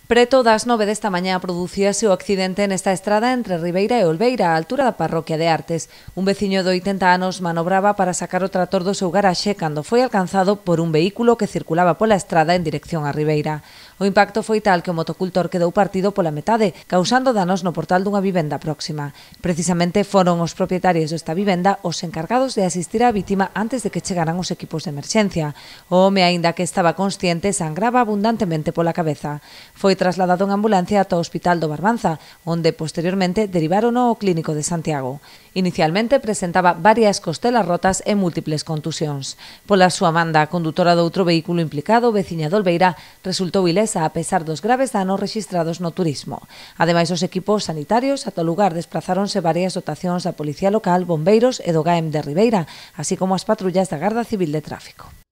Preto das 9 desta mañá producíase o accidente nesta estrada entre Ribeira e Olveira, á altura da parroquia de Artes. Un veciño de 80 anos manobraba para sacar o trator do seu garaxe cando foi alcanzado por un vehículo que circulaba pola estrada en dirección a Ribeira. O impacto foi tal que o motocultor quedou partido pola metade, causando danos no portal dunha vivenda próxima. Precisamente foron os propietarios desta vivenda os encargados de asistir á vítima antes de que chegaran os equipos de emerxencia. O home, aínda que estaba consciente, sangraba abundantemente pola cabeza. Foi trasladado en ambulancia ata o Hospital do Barbanza, onde posteriormente derivárono ao Clínico de Santiago. Inicialmente presentaba varias costelas rotas e múltiples contusións. Pola súa manda, a condutora do outro vehículo implicado, veciña de Olveira, resultou ilesa a pesar dos graves danos rexistrados no turismo. Ademais, os equipos sanitarios ata o lugar desplazáronse varias dotacións da Policía Local, bombeiros e do GAEM de Ribeira, así como as patrullas da Garda Civil de Tráfico.